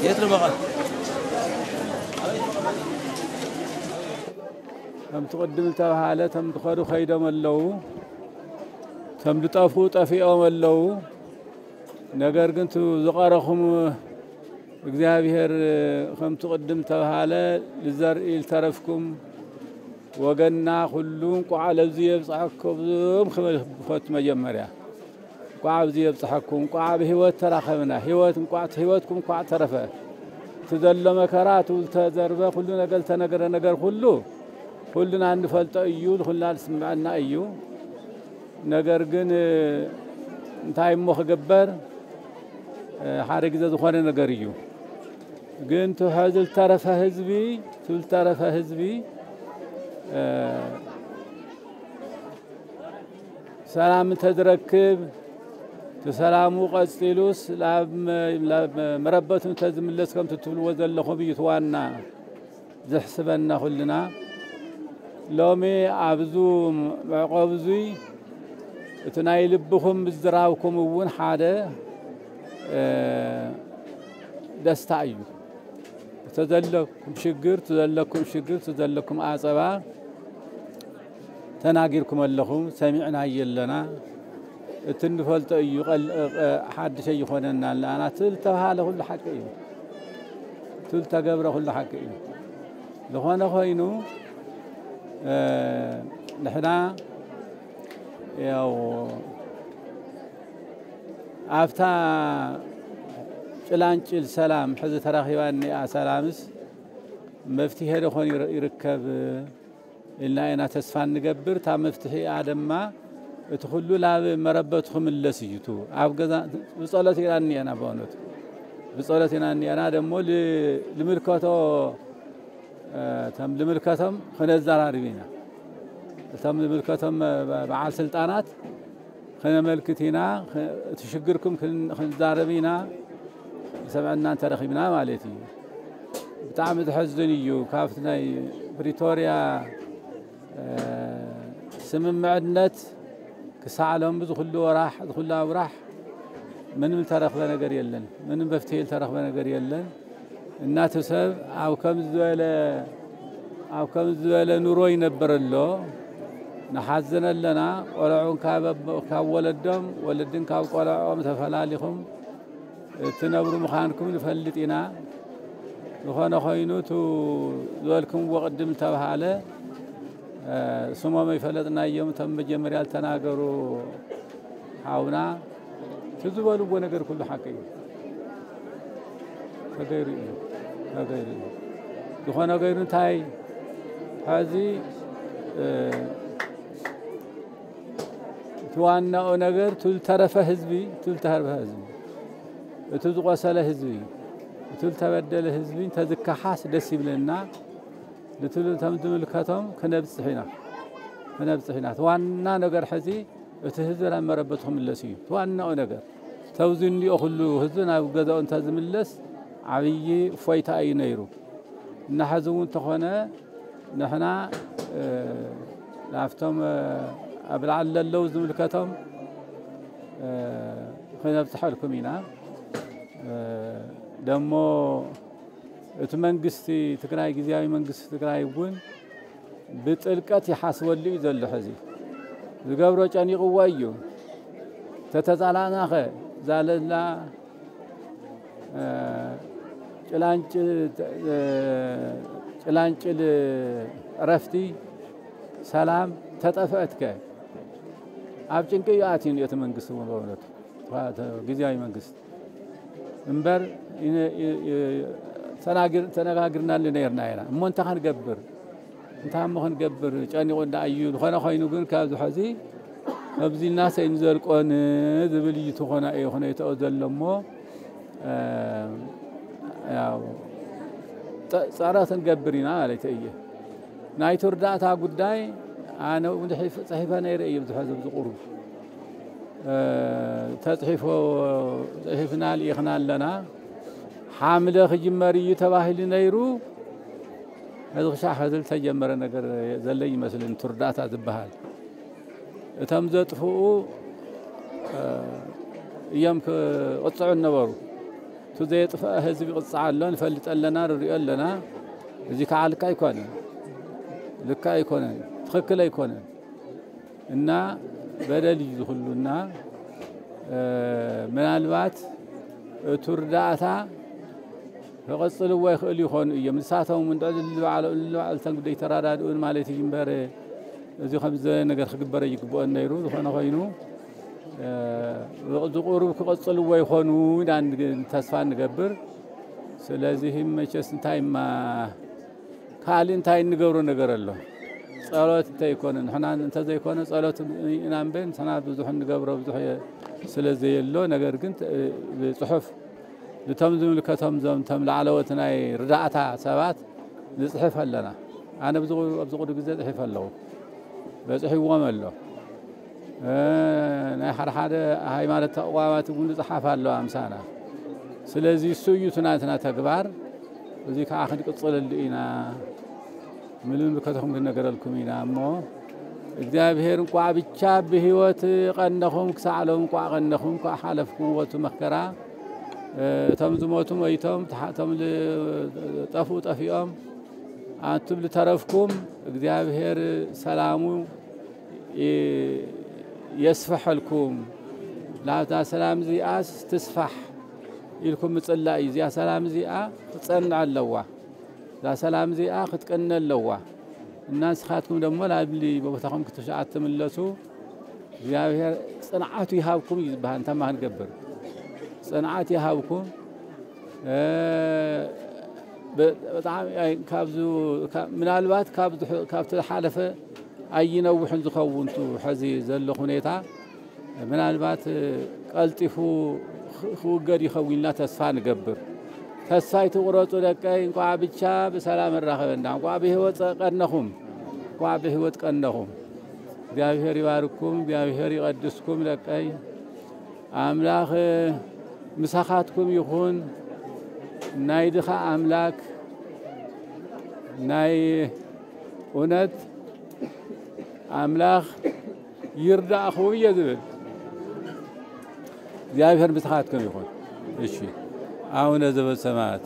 የት ነው በቃ ከምቲ ቅድም ዝተባሃለ፣ እቶም ዝኸዱ ከይዶም ኣለዉ፣ እቶም ዝጠፍኡ ጠፊኦም ኣለዉ። ነገር ግን እቲ ዝቐረኹም እግዚኣብሔር ከምቲ ቅድም ዝተባሃለ፣ ልዘርኢ ዝተረፍኩም ወገንና ኩሉ እንቋዕ ለዚ የብጽሐኩም ክብል ክፈቱ። መጀመርያ እንቋዕ ኣብዚ የብጽሐኩም፣ እንቋዕ ብህይወት ተራኸብና፣ ህይወት እንቋዕ፣ ህይወትኩም እንቋዕ ተረፈ። እቲ ዘሎ መከራ፣ እቲ ዝተዘርበ ኩሉ ነገር፣ ዝተነገረ ነገር ኩሉ፣ ኩልና እንፈልጦ እዩ፣ ኩልና ዝስምዐና እዩ። ነገር ግን እንታይ እሞ ክግበር፣ ሓደ ግዜ ዝኾነ ነገር እዩ። ግን እቲ ሕዚ ዝተረፈ ህዝቢ፣ እቲ ዝተረፈ ህዝቢ ሰላም እንተዝረክብ፣ እቲ ሰላሙ ቀጺሉስ ላብ መ-፣ ላብ መረበቱ እንተዝምለስ ከምቲ ትብልዎ ዘለኹም እዩ እቲ ዋና ዘሕስበና ኩልና። ሎሚ ኣብዙ መዕቆብ እዙይ እቲ ናይ ልብኹም ምዝራብኩም እውን ሓደ፣ እ፣ ደስታ እዩ። እተዘለኩም ሽግር፣ እተዘለኩም ሽግር፣ እተዘለኩም ኣጸባ ተናጊርኩም ኣለኹም፣ ሰሚዕናዮ ኣለና። እቲ እንፈልጦ እዩ፣ ቀል-፣ እ፣ ሓድሽ ኣይኾነና ኣለና። እቲ ዝተባሃለ ኩሉ ሓቂ እዩ። እቲ ዝተገብረ ኩሉ ሓቂ እዩ። ዝኾነ ኮይኑ፣ እ፣ ንሕና ያው ኣብታ ጭላንጭል ሰላም ሕዚ ተራኺባ እኒኣ ሰላምስ መፍትሄ ዶ ኾን ይር-፣ ይርከብ ኢልና ኢና ተስፋ እንገብር። እታ መፍትሒኣ ድማ እቲ ኩሉ ላብ መረበቱ ክምለስ እዩ። እቱ ኣብ ገዛ ብጸሎት ኢና እኒአና፣ በእውነቱ ብጸሎት ኢና እኒአና። ደሞ ል-፣ ልምልከቶ፣ እ፣ እቶም ልምልከቶም ክነዘራርብ ኢና። እቶም ልምልከቶም፣ እ፣ በ-፣ በዓል ስልጣናት ክነመልክት ኢና፣ ክ-፣ እቲ ሽግርኩም ክን-፣ ክንዛረብ ኢና፣ ዝሰምዐና እንተረኺብና ማለት እዩ። ብጣዕሚ ዘሐዝን እዩ። ካብቲ ናይ ፕሪቶርያ፣ እ፣ ስምምዕነት ክሳዕ ሎሚ ዝኹሉ ወራሕ፣ ዝኹሉ ኣውራሕ ምንም ዝተረኽበ ነገር የለን። ምንም መፍትሒ ዝተረኽበ ነገር የለን። እናቱ ሰብ ኣብ ከም ዝበለ፣ ኣብ ከም ዝበለ ኑሮ ይነብር ኣሎ። ንሓዝን ኣለና። ቆልዑን ካብ ኣቦ-፣ ካብ ወለዶም፣ ወለድን ካብ ቆልዖም ተፈላሊኹም እትነብሩ ምዃንኩም ንፈልጥ ኢና። ዝኾነ ኮይኑ፣ እቱ ዝበልኩምዎ ቅድም ዝተባሃለ፣ እ፣ ስሞም ኣይፈለጥናዮም፣ እቶም መጀመርያ ዝተናገሩ ሓውና፣ እቲ ዝበልዎ ነገር ኩሉ ሓቂ እዩ። ተገይሩ እዩ። ተገይሩ እዩ። ዝኾነ ገይሩ እንታይ፣ ሕዚ፣ እ፣ እቲ ዋናኡ ነገር፣ እቲ ዝተረፈ ህዝቢ፣ እቲ ዝተረፈ ህዝቢ፣ እቲ ዝቆሰለ ህዝቢ፣ እቲ ዝተበደለ ህዝቢ እንተዝከሓስ ደስ ይብለና። ንትሉ-፣ እቶም ዝምልከቶም ክነብጽሕ ኢና። ክነብጽሕ ኢና። እቲ ዋና ነገር ሕዚ፣ እቲ ህዝቢ ናብ መረበቱ ክምለስ እዩ። እቲ ዋናኡ ነገር። ተውዚ እንዲኦ ኩሉ ህዝቢ ናብ ገዛኡ እንተዝምለስ፣ ዓብዪ እፎይታ እዩ ነይሩ። እና ሕዚ እውን እንተኾነ፣ ንሕና፣ እ፣ ናብቶም፣ እ፣ ኣብ ላዕሊ ለለዉ ዝምልከቶም፣ እ፣ ክነብጽሐልኩም ኢና። እ፣ ደሞ እቲ መንግስቲ ትግራይ፣ ግዝያዊ መንግስቲ ትግራይ እውን ብጥልቀት ይሓስበሉ እዩ ዘሎ። ሕዚ ዝገብሮ ጨኒቕዎ እዩ። ተተዛላናኸ ዛለላ፣ እ፣ ጭላንጭ-፣ እ፣ ጭላንጭል እረፍቲ ሰላም ተጠፍአትከ ኣብ ጭንቂ እዩ ኣትዩ እቲ መንግስቲ እውን በእውነቱ። ግዝያዊ መንግስቲ እምበር፣ ይነ-፣ ይ-፣ ይ-፣ ተናግር-፣ ተነጋግርናሉ ነይርና ኢና። እሞ እንታይ ክንገብር? እንታይ እሞ ክንገብር? ጨኒቑ እንዳ እዩ። ዝኾነ ኮይኑ ግን፣ ካብዚ ሐዚ፣ ከምዚ ኢልና ሰይንዘልቆን ዝብል እዩ። ትኾና እዩ፣ ኾነ ይተኦ ዘሎ እሞ፣ እ፣ ያው፣ ጸ-፣ ጸረት ንገብር ኢና ማለት እየ። ናይቲ ርዳእታ ጉዳይ ኣነ እውን ጽሒፍ-፣ ጽሒፈ ነይረ እየ፣ ብዙሕ ህዝቢ ዝቑሩብ። እ፣ ተጽሒፎ፣ ጽሒፍና ልኢኽና ኣለና። ሓምለ ክጅመር እዩ ተባሂሉ ነይሩ። እዚ ክሻዕ ሕዚ ዝተጀመረ ነገር ዘለ ይመስልን፣ እቲ ርዳእታ ዝበሃል። እቶም ዘጥፍኡ፣ እ፣ እዮም ክቕጽዑ ነበሩ። እቲ ዘየጥፍአ ህዝቢ ይቕጻዕ ኣሎ፣ ንፈልጥ ኣለና፣ ንሪኦ ኣለና። እዚ ከዓ ልክዕ ኣይኮነን፣ ልክዕ ኣይኮነን፣ ትኽክል ኣይኮነን። እና በደል እዩ ዝኹሉና። ምናልባት እቱ ርዳእታ ክቐጽልዎ ይኽእል ይኾኑ እዮም። ንሳቶም እውን ልዕሊ ባዕሎም፣ ልዕሊ ባዕልተን ጉዳይ ተራዳድኡን ማለት እዩ እምበር፣ እዚ ከምዚ ነገር ክግበር ይግብኦን ነይሩ። ዝኾነ ኮይኑ፣ እዚ ቁሩብ ክቐጽልዎ ይኾኑ ኢና ተስፋ እንገብር። ስለዚህ መቸስ እንታይ እማ ካልእ እንታይ እንገብሮ ነገር ኣሎ? ጸሎት እንተይኮነ፣ ንሕና እንተዘይኮነ ጸሎት ኢና እምበር፣ ንሕና ብዙሕ እንገብሮ ብዙሕ ስለ ዘየሎ፣ ነገር ግን ተ-፣ ብጽሑፍ ልቶም ዝምልከቶም ዞም ቶም ላዕለዎት ናይ ርዳእታ ሰባት ንጽሕፍ ኣለና። ኣነ ኣብዚ ቁ-፣ ኣብዚ ቁሩብ ግዜ ጽሒፈ ኣለኹ። በጺሕዎም ኣሎ። እ፣ ናይ ሓደ ሓደ ሃይማኖት ተቋማት እውን ዝጸሓፍ ኣለዋ ምሳና። ስለዚ እሱ እዩ እቲ ናትና ተግባር። እዚ ከዓ ክንቅጽለሉ ኢና። ምልምልከትኩም ክንነገረልኩም ኢና እሞ፣ እግዚኣብሔር እንቋዕ ብቻ ብህይወት ቀነኹም፣ ክሳዕ ሎም እንቋዕ ቀነኹም፣ እንቋዕ ሓለፍኩም ወቱ መከራ። እ፣ እቶም ዝሞቱ ሞይቶም፣ ተሓ-፣ እቶም ዝጠፍኡ ጠፊኦም፣ ኣንቱም ዝተረፍኩም እግዚኣብሔር ሰላሙ ይ-፣ የስፍሐልኩም። ላብታ ሰላም እዚኣስ ትስፋሕ ኢልኩም ምጽላእ እዩ። እዚኣ ሰላም እዚኣ ክትጸንዕ ኣለዋ። እዛ ሰላም እዚኣ ክትቀነ ኣለዋ። እና ንስኻትኩም ደሞ ላብሊ ቦታኹም ክትሻ-፣ ትምለሱ። እግዚኣብሔር ጽንዓቱ ይሃብኩም እዩ ዝበሃል። እንታይ ማን ገብር? ጽንዓት ይሃብኩም። እ፣ በ-፣ በጣም ኣይ-፣ ካብዙ-፣ ካ-፣ ምናልባት ካብ ዝሕ-፣ ካብቲ ዝሓለፈ ኣይነውሕን ዝኸውን ቱ ሕዚ ዘሎ ሁኔታ ምናልባት ቀልጢፉ ኽ-፣ ክውገድ ይኸውን ኢልና ተስፋ ንገብር። ተስፋ ኣይትቑረጹ ደቀይ፣ እንቋዕ ብቻ ብሰላም ኣራኸበና፣ እንቋዕ ብህይወት ቀነኹም፣ እንቋዕ ብህይወት ቀነኹም። እግዚኣብሔር ይባርኩም፣ እግዚኣብሔር ይቐድስኩም ደቀይ። ኣምላኽ ምሳኻትኩም ይኹን። ናይ ድኻ ኣምላክ፣ ናይ እውነት ኣምላኽ ይርዳእኹም እየ ዝብል። እግዚኣብሔር ምሳኻትኩም ይኹን። እሺ፣ ኣቡነ ዘበሰማያት።